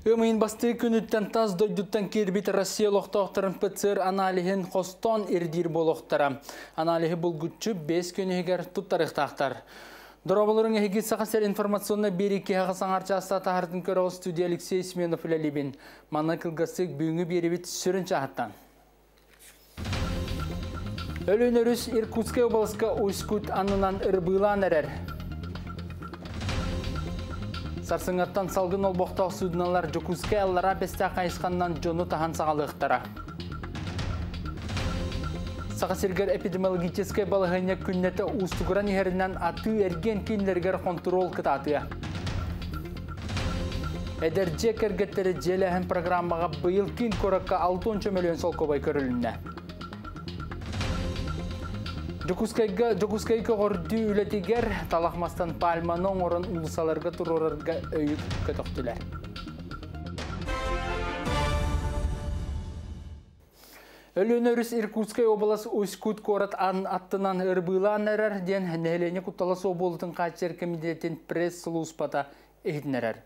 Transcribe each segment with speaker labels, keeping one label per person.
Speaker 1: Ыам ыйын бастакы күнүттэн тас дойдуттан киирбит Россия олохтоохторун ПЦР аналиһын хостоон ирдиир буолуохтара. Аналиһы булгуччу 5 күн иһигэр туттарыахтаахтар. Дорооболоруҥ, эһиги Саха сир информационнай биэрии киһиэхэ саҥар чааста таһартын көрө студия Алексей Семенов үлэлиибин. Манна кылгастык бүгүҥҥү биэрибит сүрүн чааһыттан. Өлүөн өрүс Иркутскай областка Усть-Кут аннынан ырбыылаан эрэр. Сарсыҥҥаттан салгын олбохтоох суудуналар Дьокуускай Аллараа Бэстээх хайысханнан дьону таһан саҕалыахтара. Саха сиригэр эпидемиологическай балаһыанньа күннэтэ уустугуран иһэринэн атыы-эргиэн кииннэригэр хонтуруол кытаатыа. Эдэр дьиэ кэргэттэри дьиэлээһин программаҕа быйыл киин куоракка 60 мөлүйүөн солкуобай көрүлүннэ. Дьокуускайга Дьокуускай көҕөрдүү үлэтигэр талах мастан пальманы оҥорон уулуссаларга туруорарга өйүк көтөхтүлэр. Өлүөнэ өрүс Иркутскай область Усть-Кут куорат аттынан ырбыылаан эрэр диэн нэһилиэнньэ куттала суох буолуутун хааччыйар кэмитиэтин пресс-сулууспата иһитиннэрэр.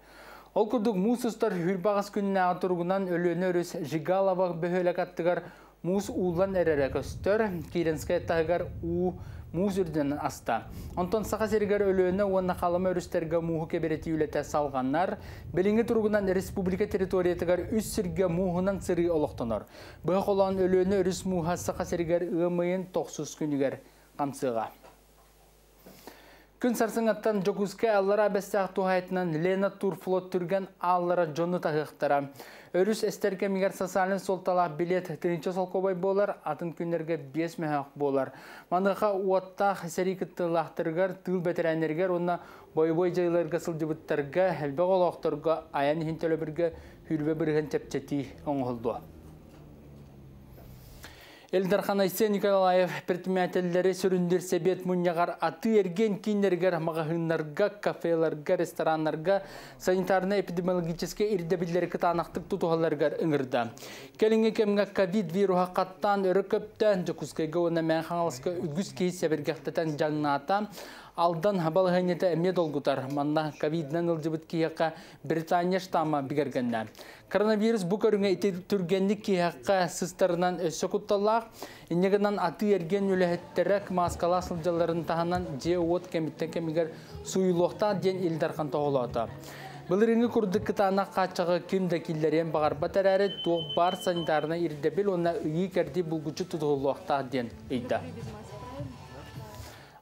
Speaker 1: Ол курдук муус устар хүрбаҕас күннээҕи туругунан Өлүөнэ өрүс Жигалова бөһүөлэк аттыгар муус ууллан эрэрэ көстөр. Киренскэй таһыгар уу муус үрдүнэн аста. Онтон Саха сиригэр Өлүөнэ уонна Халыма өрүстэргэ мууһу кэбирэтии үлэтэ салҕанар. Билиҥҥи туругунан республика территориятыгар үс сиргэ мууһунан сырыы олохтонор. Быһа холоон Өлүөнэ өрүс мууһа Саха сиригэр ыам ыйын тохсус күнүгэр хамсыаҕа. Күн сарсыҥҥаттан Дьокуускай Аллараа Бэстээх туһаайытынан Лена Турфлот түргэн ааллара дьону таһыахтара. Өрүс эстэр кэмигэр социальнай суолталаах билет тыһыынча солкуобай буолар, атын күннэргэ 5 мөһөөх буолар. Маныаха уоттаах сэрии кыттыылаахтарыгар, тыыл бэтэрээннэригэр уонна бойобуой дьайыыларга сылдьыбыттарга, элбэх олохторго айан иһин төлөбүргэ 20% чэпчэтии оҥоһуллуо. Ил Дархан Айсен Николаев предпринимателлэри сүрүннүүр сэбиэт мунньаҕар атыы-эргиэн кииннэригэр, маҕаһыыннарга, кафеларга, рестораннарга санитарнай-эпидемиологическай ирдэбиллэри кытаанахтык тутуһалларыгар ыҥырда. Кэлиҥҥи кэмҥэ ковид вируһа хаттаан өрө көптө, Дьокуускайга уонна Мэҥэ Хаҥаласка үгүс киһи сэбиргэхтэтэн дьаҥнаата. Алдан балаһыанньата эмиэ долгутар. Манна ковидынан ыалдьыбыт киһиэхэ Британия штамма бигэргэннэ. Коронавирус бу көрүҥэ ити түргэнник киһиэхэ сыстарынан өссө кутталлаах. Инньэ гынан атыы-эргиэн үлэһиттэрэ мааскалаах сылдьалларын таһынан дьиэ-уот кэмиттэн кэмигэр сууйулуохтаах диэн Ил Дархан тоһоҕолоото. Былырыыҥҥы курдук кытаанах хааччаҕы ким да киллэриэн баҕарбат эрээри, туох баар санитарнай ирдэбил уонна ыйыы-кэрдии булгуччу тутуһуллуохтаах диэн ыйда.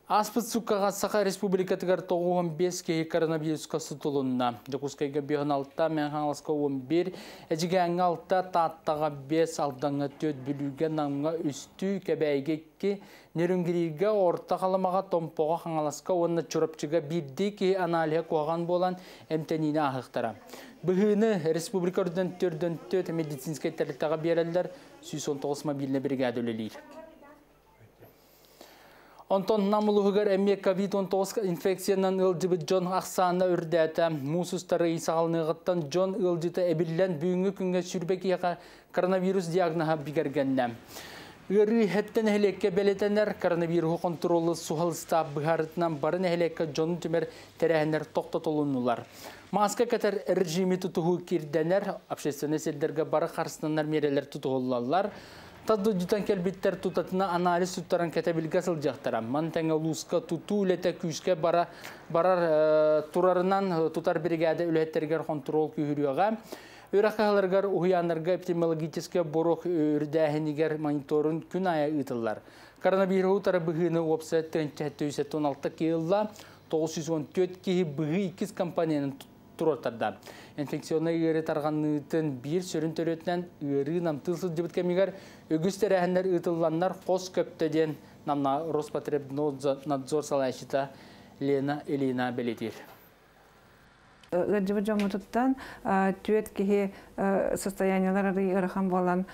Speaker 1: Ааспыт сууккаҕа Саха Республикатыгар 95 киһи коронавируска сутулунна. Дьокуускайга 56, Мэҥэ Хаҥаласка 11, Эдьигээҥҥэ 6, Тааттаҕа 5, Алдаҥҥа 4, Бүлүүгэ, Намҥа үстүү, Кэбээйигэ 2, Нерюнгригэ, Орто Халымаҕа, Томпоҕо, Хаҥаласка уонна Чурапчыга биирдии киһи аналиһа куһаҕан буолан эмтэниини ааһыахтара. Быһыыны республика үрдүнэн 404 медицинскэй тэрилтэҕэ биэрэллэр, 119 мобильнай бригада үлэлиир. Онтон Нам улууһугар эмиэ ковид-19 инфекциянан ыалдьыбыт дьон ахсаана үрдээтэ. Муус устар ый саҕаланыаҕыттан дьон ыалдьыта эбиллэн бүгүҥҥү күҥҥэ сүүрбэ киһиэхэ коронавирус диагноһа бигэргэннэ. Ыарыы сэттэ нэһилиэккэ бэлиэтэнэр. Коронавируһу хонтуруоллуур суһал ыстаап быһаарыытынан бары нэһилиэккэ дьону түмэр тэрээһиннэр тохтотулуннулар. Мааска кэтэр режими тутуһуу кирдэнэр, общественнай сирдэргэ бары харыстанар миэрэлэр тутуһуллаллар. Тас дойдутан кэлбиттэр тутатына анализ туттаран кэтэбилгэ сылдьыахтара. Маны тэҥэ улууска тутуу үлэтэ күүскэ бара, барар турарынан тутар биригээдэ үлэһиттэригэр хонтуруол күүһүрүөҕэ. Үөрэх кыһаларыгар, уһуйааннарга эпидемиологическай боруок үрдээһинигэр мониторун күн аайы ыытыллар. Коронавируһу утары быһыыны уопсай 1716 киһи ылла, 914 киһи быһыы иккис компоненын туруортарда. Инфекционнай ыарыы тарҕаныытын биир сүрүн төрүөтүнэн ыарыы намтыы сылдьыбыт кэмигэр үгүс тэрээһиннэр ыытылланнар хос көптө диэн Намна Роспотребнадзор салайааччыта Лена Ильина бэлиэтиир.
Speaker 2: Ыалдьыбыт дьоммутуттан түөрт киһи состояниелар арый ыарахан буолан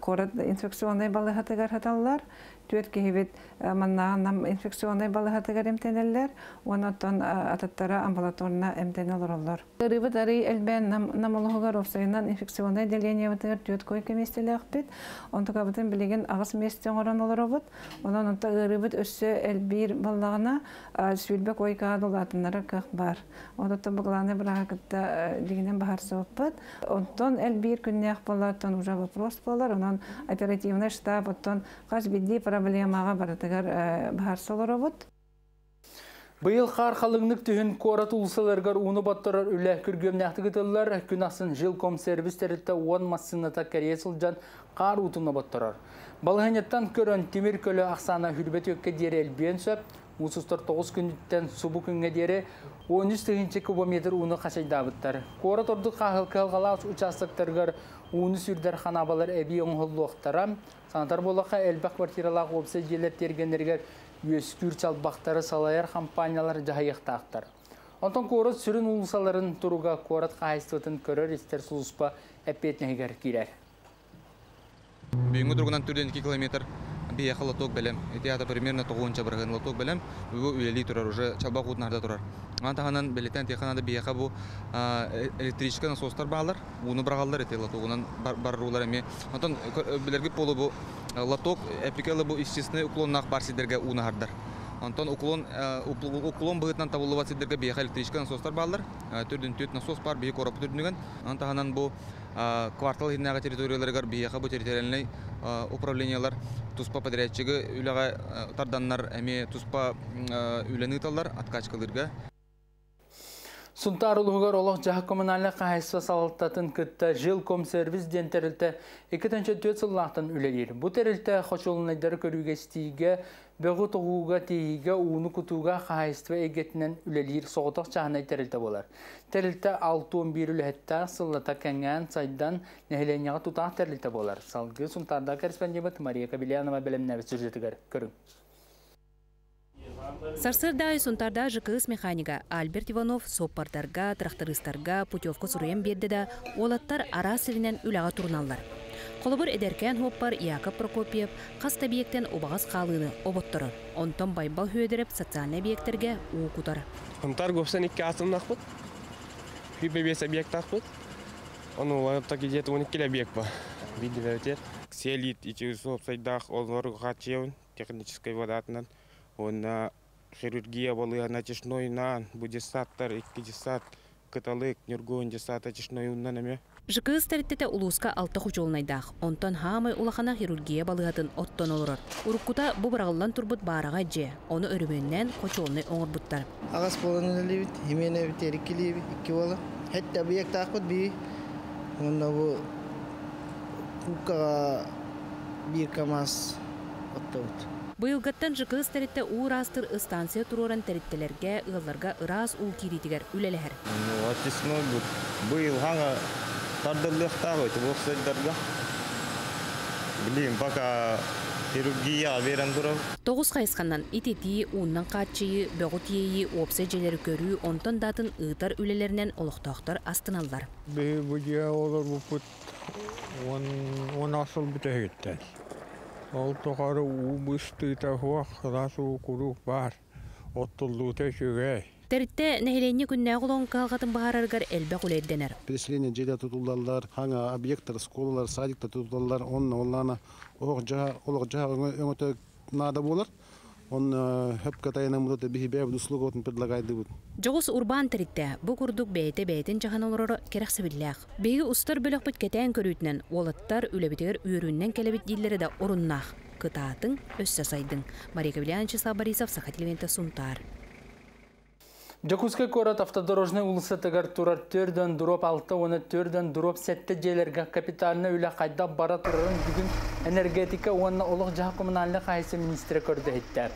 Speaker 2: куорат инфекционнай балыыһатыгар сыталлар. Түөрт киһибит манна нам инфекционнай балыыһатыгар эмтэнэллэр, онтон атыттара амбулаторно эмтэнэ олороллор. Ыарыыбыт арый элбээн нам улууһугар уопсайынан инфекционнай отделениебытыгар 4 койка миэстэлээхпит. Онтукабытын билигин 8 миэстэ оҥорон олоробут. Онон онто ыарыыбыт өссө элбиир буоллаҕына 20 койкаҕа улаатыннарар кыах баар. Онтон бу главный бырааһы кытта дьиҥинэн быһаарсыбыппыт. Онтон элбиир күннээх буоллар, уже вопрос буолар. Онон оперативный штаб оттон хас биирдии проблемаҕа барытыгар быһаарса олоробут.
Speaker 1: Быйыл хаар халыҥнык түһэн куорат уулуссаларыгар ууну батарар үлэ күргүөмнээхтик ыытыллар. Күн ахсын жилкомсервис тэрилтэ 10 массыыната кэрийэ сылдьан хаар уутун батарар. Балаһыанньаттан көрөн тимир көлө ахсаана 24-кэ диэри элбиэн сөп. Муус устар 9 күнүттэн субу күҥҥэ диэри 13 тыһыынча кубометр ууну хачайдаабыттар. Куорат ордук кыһалҕалаах участоктарыгар ууну сүүрдэр ханаабалар эбии оҥоһуллуохтара. Санатар буоллахха, элбэх квартиралаах уопсай дьиэлэр тиэргэннэригэр үөскүүр чалбахтары салайар хампаанньалар дьаһайыахтаахтар. Онтон куорат сүрүн уулуссаларын туруга куорат хаһаайыстыбатын көрөр-истэр сулууспа эппиэтинэһигэр киирэр.
Speaker 3: Бүгүҥҥү туругунан 42 километр биһиэхэ лоток бэлэм. Ити аата примерно 90% лоток бэлэм. Бу үлэлии турар, уже чалбах уутун аһарда турар. Маны таһынан бэлиэтээн этиэххэ наада, биһиэхэ бу электрическэй насостар бааллар, ууну быраҕаллар ити лотогунан барар уулар эмиэ. Онтон билэргит буолуо, бу лоток эпикелы бу естественный уклоннаах бар сирдэргэ ууну аһардар. Онтон уклон быһыытынан табыллыбат сирдэргэ биһиэхэ электрическэй насостар бааллар. Төрдүн түөрт насос бар биһи куораппыт үрдүнэн. Онон таһынан бу квартал иһинээҕи территорияларыгар биһиэхэ бу территориальнай управлениелар туспа подрядчигы үлэҕэ тарданнар эмиэ туспа үлэни ыыталлар откачкалыырга.
Speaker 1: Сунтаар улууһугар олох-дьаһах коммунальнай хаһаайыстыба салалтатын кытта Жилкомсервис диэн тэрилтэ 2004 сыллаахтан үлэлиир. Бу тэрилтэ хочуолунайдары көрүүгэ-истиигэ, бөҕү тоҕууга, тиэйиигэ, ууну кутууга хаһаайыстыба эйгэтинэн үлэлиир соҕотох чааһынай тэрилтэ буолар. Тэрилтэ 61 үлэһиттээх, сыллата кэҥээн, сайдан, нэһилиэнньэҕэ тутаах тэрилтэ буолар. Салгыы Сунтаардаах корреспондент Мария Кобельянова бэлэмнээбит сюжетыгар көрүҥ.
Speaker 4: Сарсыарда аайы Сунтаардаах ЖКС механига Альберт Иванов суоппардарга, трактористарга путевка суруйан биэрдэ да, уолаттар араас сиринэн үлэҕэ туруналлар. Холобур, эдэркээн суоппар Яков Прокопьев хас да объектэн убаҕас хаалыыны оботторор. Онтон Байбал Хүөдэреп социальнай объектэргэ уу кутар.
Speaker 5: Сунтаар уопсайа икки атомнаахпыт. 25 объектаахпыт. Ону так где-то 12 объект ба. Видео Селит ити уопсайдаах олору хааччыйабын техническай водатынан. Уонна хирургия балыыһа натяжнойнаан, бу детсадтар, икки детсад, Кыталык, Ньургуһун детсад натяжной уунан эмиэ.
Speaker 4: ЖКС тэрилтэтэ улууска алта хочуолунайдаах. Онтон хаамай улахана хирургия балыыһатын оттон олорор. Уруккута бу быраҕыллан турбут баараҕай дьиэ. Ону өрөмүөннээн хочуолунай оҥорбуттар.
Speaker 6: 8 буолан үлэлиибит, симиэнэбит иккилиибит, икки буолан. Сэттэ объектаахпыт бии. Уонна бу Кууккаҕа биир КамАЗ оттобут.
Speaker 4: Быйылгыттан ЖКС тэрилтэ уу ыраастыыр станция туруоран тэрилтэлэргэ, ыалларга ыраас уу киириитигэр үлэлэһэр.
Speaker 7: Очистной быйыл хаҥа тардыллыахтаах ити уопсайдарга. Билигин пока хирургия берэн турар.
Speaker 4: 9 хайысханан ититии, уунан хааччыйыы, бөҕү тиэйии, уопсай дьиэлэри көрүү, онтон да атын ыытар үлэлэринэн олохтоохтор астыналлар.
Speaker 8: Биһи бу дьиэҕэ олорбуппут 10 сыл бүтэһигиттэн. Ол тухары уу быстыыта суох, сылаас уу куруук баар. Оттуллуута үчүгэй.
Speaker 4: Тэрилтэ нэһилиэнньэ күннээҕи олоҕун кыһалҕатын быһаарарыгар элбэх үлэ ирдэнэр.
Speaker 9: Переселение дьиэлэр тутуллаллар, хаҥа объекттар, школалар, садиктар тутуллаллар, онно оллаана олох-дьаһах өҥөтө наада буолар. Он хөпкө тайанаммыт биһи бэйэбит услугабытын предлагайдыбыт.
Speaker 4: Дьоҕус урбаан тэрилтэ бу курдук бэйэтэ бэйэтин дьаһана олороро кэрэхсэбиллээх. Биһиги устар бөлөхпүт кэтээн көрүүтүнэн уолаттар үлэбитигэр үөрүүнэн кэлэбит дииллэрэ да оруннаах. Кытаатыҥ, өссө сайдыҥ. Мария Кобельянович, Борисов, Саха телевидениетэ, Сунтаар.
Speaker 1: Дьокуускай куорат Автодорожнай уулуссатыгар турар 4/6 уонна 4/7 дьиэлэргэ капитальнай үлэ хайдах бара турарын бүгүн энергетика уонна олох-дьаһах коммунальнай хаһаайыстыба миниистирэ көрдө-иһиттэ.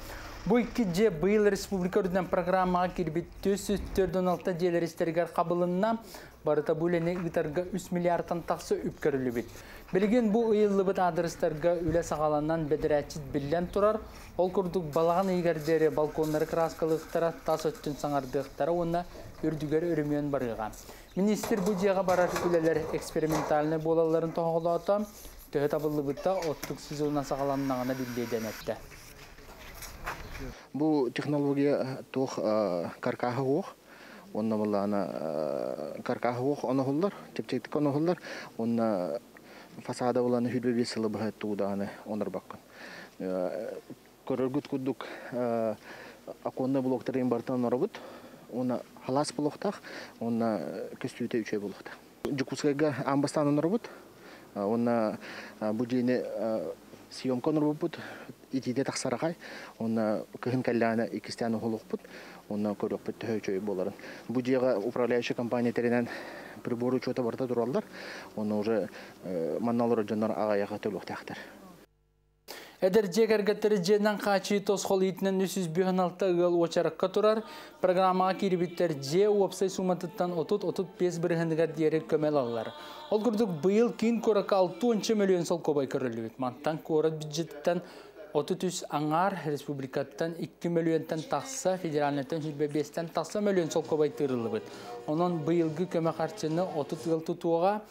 Speaker 1: Бу икки дьиэ быйыл республика үрдүнэн программаҕа киирбит 446 дьиэлэр истэригэр хабылынна. Барыта бу үлэни ыытарга 3 миллиардтан тахса үп көрүллүбүт. Билигин бу ыйыллыбыт аадырыстарга үлэ саҕаланан бэдэрээтчит биллэн турар. Ол курдук балаҕан ыйыгар диэри балконнары кырааскалыахтара, тас өттүн саҥардыахтара уонна үрдүгэр өрөмүөн барыаҕа. Миниистир бу дьиэҕэ барар үлэлэр экспериментальнай буолалларын тоһоҕолоото. Төһө табыллыбыта оттук сезона саҕаланнаҕына биллиэ диэн эттэ.
Speaker 10: Бу технология туох каркаһа суох, онно буоллаҕына каркаһа суох оноһуллар, чэпчэкитик оноһуллар, уонна фасада булан 25 сылы быһа тугу даҕаны онорбоккун. Көрөргүт курдук оконный блоктарын барытын оноробут, уонна халаас буолуохтаах, уонна көстүүтэ үчүгэй буолуохтаах. Дьокуускайга аан бастаан оноробут, уонна бу дьиэни съемка оноробуппут, итиитэ тахсар аҕай, уонна кыһын кэллэҕинэ иккистээн уһулуохпут, уонна көрүөхпүт төһө үчүгэй буоларын. Бу дьиэҕэ управляющая компания тэринэн прибор учета барыта тураллар, уонна уже манна олорор дьоннор аҕыйаҕы төлүөхтээхтэр.
Speaker 1: Эдэр дьиэ кэргэттэри дьиэнэн хааччыйыы тосхол иитинэн 356 ыал уочаракка турар. Программаҕа киирбиттэр дьиэ уопсай сууматыттан 30-35 бырыһыаныгар диэри көмө ылаллар. Ол курдук быйыл киин куоракка 60 мөлүйүөн солкуобай көрүллүбүт. Мантан куорат бюджетыттан 33 аҥаар, республикаттан 2 мөлүйүөнтэн тахса, федеральнайтан 25-тэн тахса мөлүйүөн солкуобай тыырыллыбыт. Онон быйылгы көмө харчыны 30 ыал тутуоҕа.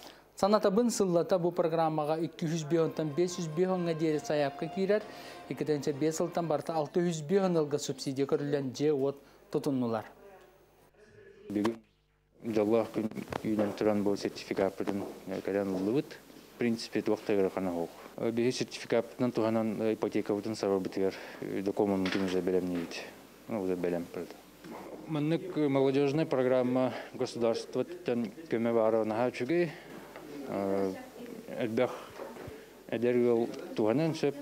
Speaker 1: Санатабын, сыллата бу программаҕа 205-тан 505-ҥа диэри сайаапка киирэр. 2005 сылтан барыта 605 ыалга субсидия көрүллэн дьиэ-уот тутуннулар.
Speaker 11: Бүгүн дьоллоох күн үүнэн туран бу сертификаппытын кэлэн ыллыбыт. В принципе, туох да ыарахана суох. Биһи сертификаппытынан туһанан ипотекабытын сабарбытыгар докумуоммутун уже бэлэмниибит. Уже бэлэм. Маннык молодежная программа государствоттан көмө баара наһаа үчүгэй. Элбэх эдэр ыал туһанан сөп.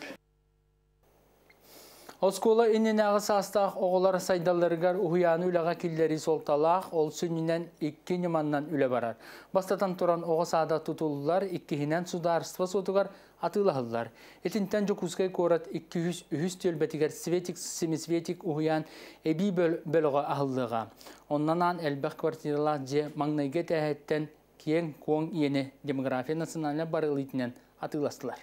Speaker 1: Оскуола иннинээҕи саастаах оҕолор сайдалларыгар уһуйааны үлэҕэ киллэрии суолталаах, ол сүнньүнэн икки ньыманнан үлэ барар. Бастатан туран, оҕо саада тутуллар, иккиһинэн судаарыстыба суотугар атыылаһыллар. Итинтэн Дьокуускай куорат 203 түөлбэтигэр Светик Семисветик уһуйаан эбии бөлөҕө аһыллыаҕа. Онно анаан элбэх квартиралаах дьиэ маҥнайгы этээһиттэн киэҥ куоҥ иэни демография национальнай барыл иитинэн атыыластылар.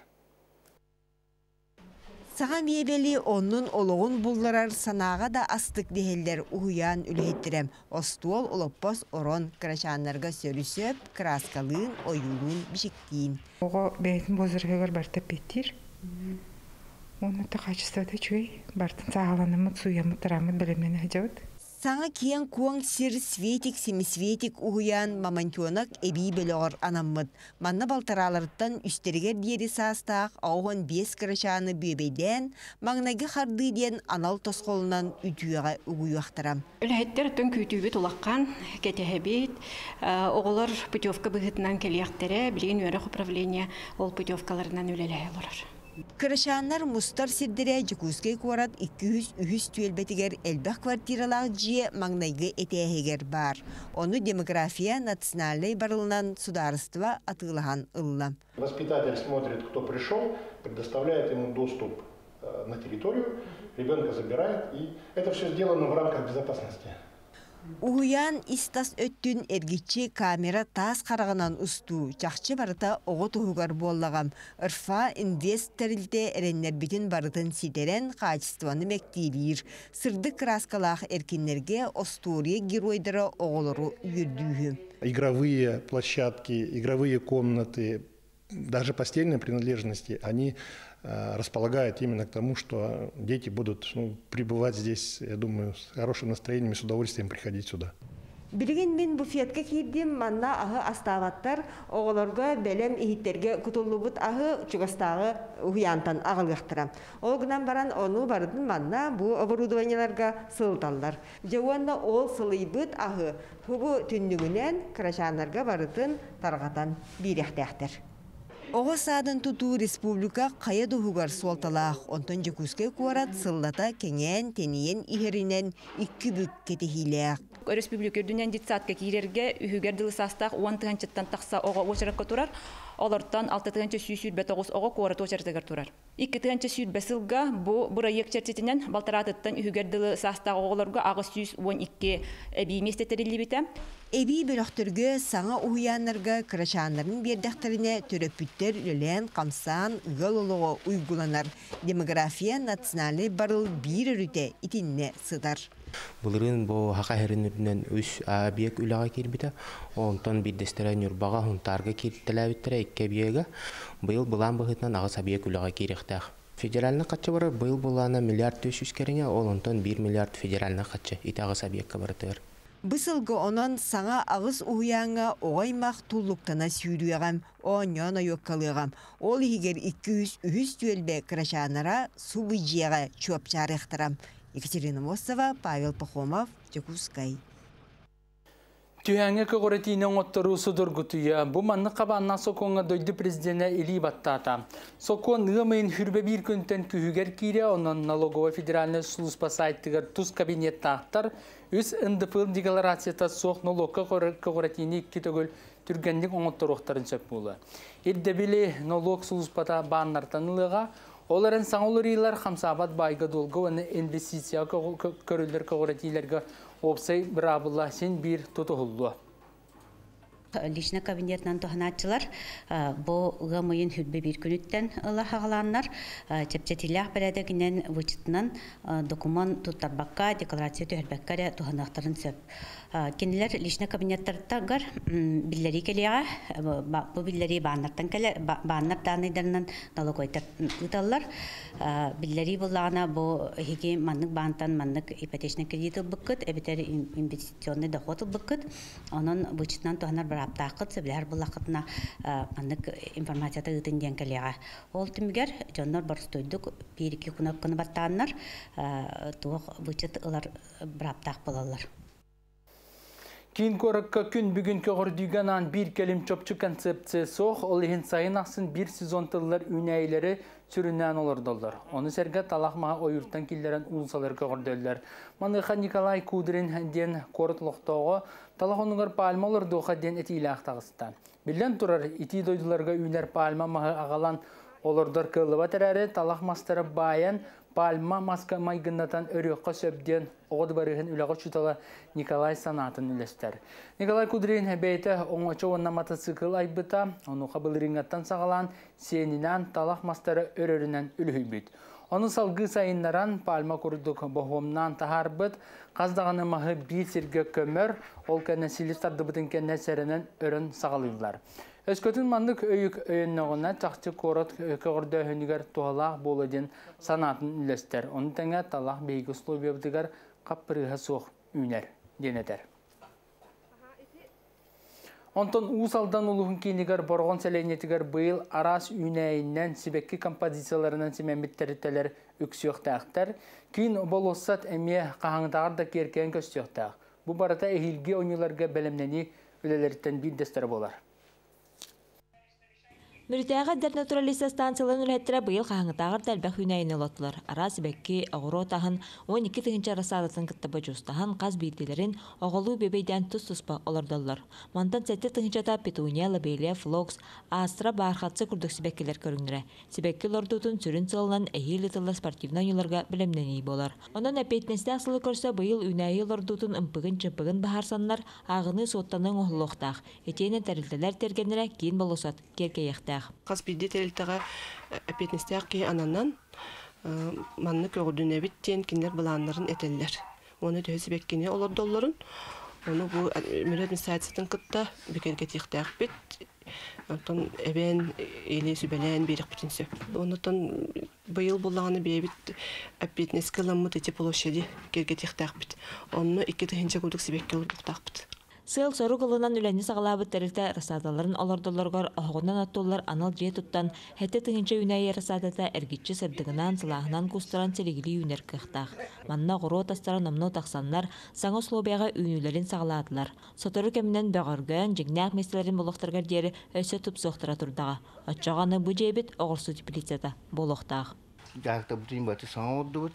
Speaker 12: Саҥа миэбэли оннун олоҕун булларар санааҕа да астык дэһэллэр уһуйаан үлэһиттэрэ. Остуол, олоппос, орон кырачааннарга сөрү-сөп, кырааскалыын, ойуулуун, бичиктиин.
Speaker 13: Оҕо бэйэтин возраһыгар барыта эппиэттиир. Уонна качествота үчүгэй. Барытын сааһыланаммыт, сууйаммыт, тарааммыт бэлэмнэнэ сылдьабыт.
Speaker 12: Саҥа киэҥ-куоҥ сир Светик Семисветик уһуйаан Мамонтенок эбии бөлөҕөр анаммыт. Манна балтарааларыттан үстэригэр диэри саастаах 85 кырачааны бүөбэйдээн, маҥнайгы хардыы диэн анал тосхолунан үтүөҕэ угуйуохтара.
Speaker 14: Үлэһиттэр оттон күүтүүбүт улахан, кэтэһэбит. Оҕолор путевка быһыытынан кэлиэхтэрэ, билигин үөрэх управление ол путевкаларынан үлэлэһэ олорор.
Speaker 12: Кырачааннар мустар сирдэрэ Дьокуускай куорат 203 түөлбэтигэр элбэх квартиралаах дьиэ маҥнайгы этээһигэр баар. Ону демография национальнай барылынан судаарыстыба атыылаһан ылла.
Speaker 15: Воспитатель смотрит, кто пришел, предоставляет ему доступ на территорию, ребенка забирает, и это все сделано в рамках безопасности.
Speaker 12: Уһуйаан ис-тас өттүн эргиччи камера таас хараҕынан устуу, чахчы барыта оҕо туһугар буоллаҕа. РФА Инвест тэрилтэ эрэннэрбитин барытын ситэрэн, хаачыстыбаны мэктиэлиир. Сырдык кырааскалаах эркиннэргэ остуоруйа геройдара оҕолору үөрдүүһү.
Speaker 15: Игровые площадки, игровые комнаты, даже постельные принадлежности, они располагают именно к тому, что дети будут, ну, пребывать здесь, я думаю, с хорошим настроением и с удовольствием приходить сюда.
Speaker 12: Билигин мин буфетка киирдим, манна аһы астаабаттар, оҕолорго бэлэм иһиттэргэ кутуллубут аһы чугастааҕы уһуйаантан аҕалыахтара. Ол гынан баран ону барытын манна бу оборудованиеларга сылыталлар. Дьэ уонна ол сылыйбыт аһы бу түннүгүнэн кырачааннарга барытын тарҕатан биэриэхтээхтэр. Оҕо саадын тутуу республика хайа да уһугар суолталаах, онтон Дьокуускай куорат сыллата кэҥээн, тэнийэн иһэринэн икки бүк кэтэһиилээх.
Speaker 16: Өрөспүүбүлүкэ үрдүнэн детсадка киирэргэ үһүгэр дылы саастаах 10 тыһыынчаттан тахса оҕо уочаракка турар. Олортон 6 129 оҕо куорат уочаратыгар турар. 2020 сылга бу бырайыак чэрчитинэн балтараатыттан үһүгэр дылы саастаах оҕолорго 812 эбии миэстэ тэриллибитэ.
Speaker 12: Эбии бөлөхтөргө саҥа уһуйааннарга кырачааннарын биэрдэхтэринэ төрөппүттэр үлэлээн хамсаан ыал олоҕо уйгуланар. Демография национальнай барыл биир өрүтэ итиннэ сытар.
Speaker 17: Былырыын бу Саха сирин үрдүнэн үс объект үлэҕэ киирбитэ. Онтон биирдэстэрэ Ньурбаҕа, Сунтаарга кииртэлээбиттэрэ икки объега. Быйыл былаан быһыытынан аҕыс объект үлэҕэ киириэхтээх. Федеральнай харчы барар быйыл былаана миллиард 400 кэриҥэ, ол онтон 1 миллиард федеральнай харчы ити аҕыс объекка барытыгар.
Speaker 12: Бу сылга онон саҥа аҕыс уһуйааҥҥа оҕо аймах туллуктана сүүрүөҕэм, оонньоон ойуоккалыаҕам. Ол иһигэр 203 түөлбэ кырачааннара субу дьиэҕэ чуопчаарыахтара. Екатерина Мостова, Павел Пахомов, Дьокуускай.
Speaker 1: Түһээҥҥэ көҕүрэтиини оҥотторуу судургутуйа. Бу маннык хабааннаах сокуоҥҥа дойду президенэ илии баттаата. Сокуон ыам ыйын 21 күнтэн күһүгэр киирэ, онон налоговай федеральнай служба сайтыгар тус кабинеттаахтар үс НДФЛ декларацията суох нолуокка көҕүрэтиини икки төгүл түргэнник оҥотторуохтарын сөп буолуо. Ирдэбили нолуок сулууспата бааннартан ылыаҕа. Ол эрэн саҥа уларыйыылар хамсаабат баайга-дуолга уонна инвестицияҕа көрүллэр көҕүрэтиилэргэ уопсай быраабыла син биир тутуһуллуо.
Speaker 18: Личный кабинетынан туһанааччылар бу ыам ыйын 21 күнүттэн ыла хаҕалааннар чэпчэтиилээх бэрээдэгинэн вычетынан докумуон туттарбакка, декларация түһэрбэккэ эрэ туһаныахтарын сөп. Кинилэр личный кабинеттарыгар биллэрии кэлиэҕэ. Бу биллэрии бааннартан кэлэр, бааннар дааннайдарынан налоговойдар ыыталлар. Биллэрии буллаҕына бу эһиги маннык баантан маннык ипотечный кредит ылбыккыт, эбэтэр инвестиционный доход ылбыккыт. Онон вычетынан туһанар бырааптааххыт, сөбүлэһэр буллаххытына маннык информацията ыытын диэн кэлиэҕэ. Ол түмүгэр дьоннор боростуойдук биир-икки кнопканы баттааннар туох вычет ылар бырааптаах буолаллар.
Speaker 1: Киин куоракка күн бүгүн көҕөрдүүгэ анаан биир кэлим чопчу концепция суох, ол иһин сайын ахсын биир сезон тыллар үүнээйилэри сүрүннээн олордоллор. Ону сэргэ талах маһа ойууртан киллэрэн уулусалары көҕөрдөллөр. Маныаха Николай Кудрин диэн куорат олохтооҕо талах оннугар пальма олордуоха диэн этиилээх таҕыста. Биллэн турар, итии дойдуларга үүнэр пальма маһы аҕалан олордор кыаллыбат эрээри, талах мастары баайан пальма маска майгыннатан өрүөххэ сөп диэн оҕо дыбарыһын үлэҕэ учуутала Николай санаатын үлэстэр. Николай Кудрин бэйэтэ оҥочо уонна мотоцикл айбыта, онуоха былырыыҥҥаттан саҕалаан сиэнинээн талах мастары өрөрүнэн үлүһүйбүт. Ону салгыы сайыннаран пальма курдук боһуомнаан таһаарбыт, хас даҕаны маһы биир сиргэ көмөр, ол кэннэ силис тардыбытын кэннэ сэрэнэн өрөн саҕалыыллар. Өскөтүн маннык өйүк өйөннөҕүнэ чахчы куорат көҕөрдөөһүнүгэр туһалаах буолуо диэн санаатын үллэстэр. Ону тэҥэ талах биһиги условиябытыгар хаппырыыһа суох үүнэр диэн этэр. Онтон Уус Алдан улууһун киинигэр Бороҕон сэлиэнньэтигэр быйыл араас үүнээйинэн, сибэкки композицияларынан симэммит тэрилтэлэр үксүөхтээхтэр. Киин болуоссат эмиэ хаһааҥҥытааҕар да киэркэйэн көстүөхтээх. Бу барыта эһиилги оонньууларга бэлэмнэнии үлэлэриттэн биирдэстэрэ буолар.
Speaker 19: Мүрүтээҕи эдэр натуралист станцияларын үлэһиттэрэ быйыл хаһааҥҥытааҕар да элбэх үүнээйини олоттулар. Араас сибэкки, оҕуруот аһын, 12 тыһыынча рассадатын кытта бодьуустаһан, хас биирдиилэрин оҕолуу бүөбэйдээн тус-туспа олордоллор. Мантан 7 тыһыынчата петуния, лобелия, флокс, астра, бархатцы курдук сибэккилэр көрүҥнэрэ. Сибэкки олордуутун сүрүн сыалынан эһиил ыытыллар спортивнай оонньууларга бэлэмнэнии буолар. Онон эппиэтинэстээх сылы көрсө быйыл үүнээйи олордуутун ымпыгын-чымпыгын быһаарсаннар, ааҕыныы суоттаныы оҥоһуллуохтаах. Итиэннэ тэрилтэлэр тиэргэннэрэ киин болуоссат киэркэйиэхтээх.
Speaker 20: Хас биирдии тэрилтэҕэ эппиэтинэстээх киһи ананан маннык көҕүдүнэбит диэн кинилэр былааннарын этэллэр. Уонна төһө сибэккини олордоллорун ону бу Мүрү администрациятын кытта бигэргэтиэхтээхпит. Онтон эбэн или сүбэлээн биэриэхпитин сөп. Оннуттан быйыл буллаҕына бэйэбит эппиэтинэскэ ыламмыт эти площади киэргэтиэхтээхпит. Онно 2 тыһыынча курдук сибэкки олордуохтаахпыт.
Speaker 19: Сыал-сорук ылынан үлэни саҕалаабыт тэрилтэ рассадаларын олордоллоругар оһоҕунан оттуллар анал дьиэ туттан, 7 тыһыынча үүнээйи рассадата эргиччи сырдыгынан, сылааһынан куустаран силигилии үүнэр кыахтаах. Манна оҕуруот астара номнуо тахсаннар, саҥа условияҕа үүнүүлэрин саҕалаатылар. Сотору кэминэн бөҕөргөөн, дьиҥнээх миэстэлэрин булуохтарыгар диэри өссө тупсуохтара турдаҕа. Оччоҕо аны бу дьиэбит оҕурсу теплицата буолуохтаах.
Speaker 21: Дьаһалтабытын баты саҥа оҥордубут.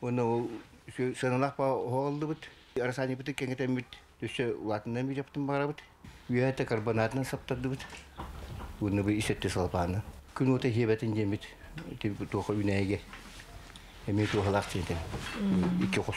Speaker 21: Уонна ол сыаналаах оһоҕоллубут. Рассадникпытын кэҥэтэммит өссө улаатыннан биэрэппитин баҕарабыт. Үөһэ карбонатынан саптардыбыт. Уонна бу ис өттө салапааны. Күн уота сиэбэтин диэммит туоха үүнээйигэ эмиэ туохалаах диэн икки хос.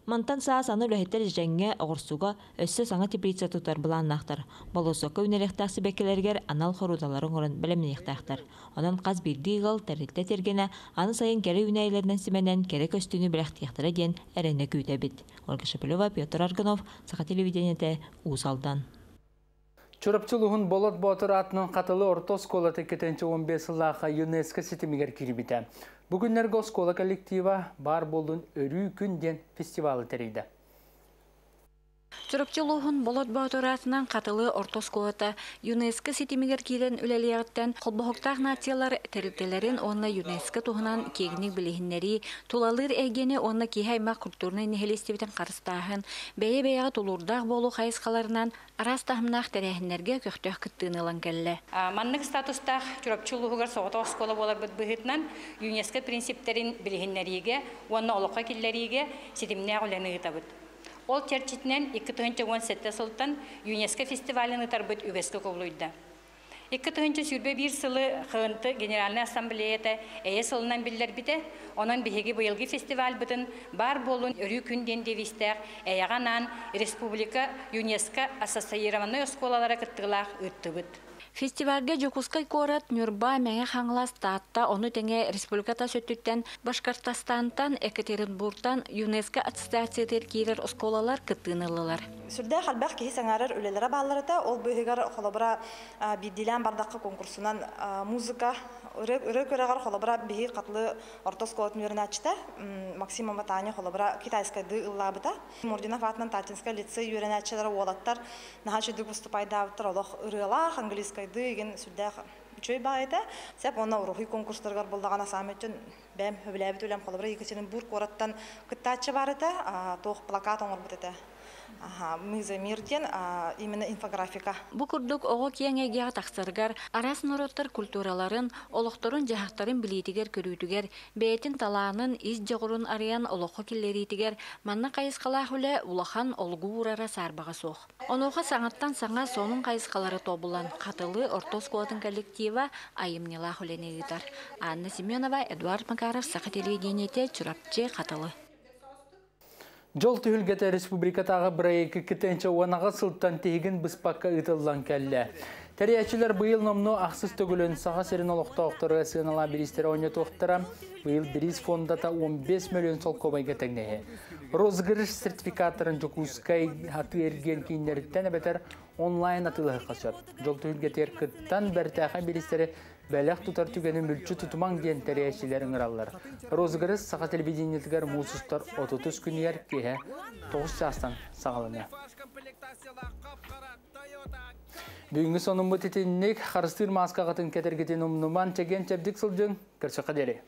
Speaker 19: Мантан саас аны үлэһиттэр дьэдьэҥҥэ, оҕурсуга өссө саҥа теплица тутар былааннаахтар. Болуоссакка үүнэриэхтээх сибэккилэригэр анал хоруудалары оҥорон бэлэмниэхтээхтэр. Онон хас биирдии ыал, тэрилтэ тиэргэнэ аны сайын кэрэ үүнээйилэринэн симэнэн кэрэ көстүүнү бэлэхтиэхтэрэ диэн эрэнэ күүтэбит. Ольга Шепелева, Петр Аргунов, Саха телевидениетэ, Уус Алдан.
Speaker 1: Чурапчы улууһун Болот Боотур аатынан Хатылы орто оскуолата 2015 сыллаахха ЮНЕСКО ситимигэр киирбитэ. Бу күннэргэ оскуола коллектива Баар буоллун өрүү күн диэн фестивалы тэрийдэ.
Speaker 2: Чурапчы улууһун Болот Боотур аатынан Хатылы орто оскуолата ЮНЕСКО ситимигэр киирэн үлэлиэҕиттэн Холбоһуктаах нациялар тэрилтэлэрин уонна ЮНЕСКО туһунан киэҥник билиһиннэрии, тулалыыр эйгэни уонна киһи аймах культурнай нэһилиэстибэтин харыстааһын, бэйэ-бэйэҕэ тулуурдаах буолуу хайысхаларынан араас таһымнаах тэрээһиннэргэ көхтөөх кыттыыны ылан кэллэ.
Speaker 22: Маннык статустаах Чурапчы улууһугар соҕотох оскуола буоларбыт быһыытынан ЮНЕСКО принциптэрин билиһиннэриигэ уонна олоххо киллэриигэ ситимнээх үлэни ыытабыт. Ол чэрчитинэн 2017 сылтан ЮНЕСКО фестивалын ыытарбыт үгэскэ кубулуйда. 2021 сылы ХНТ Генеральнай Ассамблеята Эйэ сылынан биллэрбитэ. Онон биһиги быйылгы фестивальбытын Баар буоллун өрүү күн диэн девизтээх эйэҕэ анаан республика ЮНЕСКО ассоциированнай оскуолалара кыттыылаах ыыттыбыт.
Speaker 2: Фестивальга Дьокуускай куорат, Ньурба, Мэҥэ Хаҥалас, Таатта, ону тэҥэ республика тас өттүттэн Башкортостантан, Екатеринбургтан ЮНЕСКО ассоциациятыгар киирэр оскуолалар кыттыыны ыллылар.
Speaker 23: Сүрдээх элбэх киһи сэҥээрэр үлэлэрэ бааллар этэ. Ол быыһыгар холобура биирдиилээн бардахха конкурсунан музыка ырыа күрэҕэр холобура биһи Хатылы орто оскуолатын үөрэнээччитэ Максимова Таня холобура китайскайдыы ыллаабыта. Мурдинов аатынан Татинскай лицей үөрэнээччилэрэ уолаттар наһаа үчүгдүк выступайдаабыттар олох ырыалаах английскайдыы игин сүрдээх үчүгэй баҕайыта. Сеп уонна уруһуй конкурстарыгар буллаҕына саамай өттүн бэйэм сөбүлээбит үлэм холобура Екатеринбург куораттан кыттааччы баар этэ, туох плакат оҥорбут этэ. Мы за мир диэн именно инфографика.
Speaker 2: Бу курдук оҕо киэҥ эйгэҕэ тахсарыгар, араас норуоттар культураларын, олохторун-дьаһахтарын билиитигэр-көрүүтүгэр, бэйэтин талаанын, ис дьоҕурун арыйан олоххо киллэриитигэр манна хайысхалаах үлэ улахан олугу уурара саарбаҕа суох. Онуоха саҥаттан саҥа сонун хайысхалары тобулан, Хатылы орто оскуолатын коллектива айымньылаах үлэни ыытар. Анна Семенова, Эдуард Макаров, Саха телевидениетэ, Чурапчы, Хатылы.
Speaker 1: Дьол түһүлгэтэ республикатааҕы бырайыак 2018 сылтан тиһигин быспакка ыытыллан кэллэ. Тэрийээччилэр быйыл номнуо ахсыс төгүлүн Саха сирин олохтоохторо сыаналаах бириистэрэ оонньотуохтара. Быйыл бириис фондата 15 миллион солкуобайга тэҥнэһэ. Розыгрыш сертификаттарын Дьокуускай атыы-эргиэн кииннэриттэн эбэтэр онлайн атыылаһыахха сөп. Дьол түһүлгэтигэр кыттан бэртээхэй бириистэри бэлэх тутар түгэни мүлчү тутумаҥ диэн тэрийээччилэр ыҥыраллар. Розыгрыш Саха телевидениетыгар муус устар 30 күнүгэр киэһэ 9 чаастан саҕаланыа. Бүгүҥҥү сонуммут итинник харыстыыр мааскаҕытын кэтэргитин умнуман чэгиэн чэбдик сылдьыҥ. Көрсөххө диэри.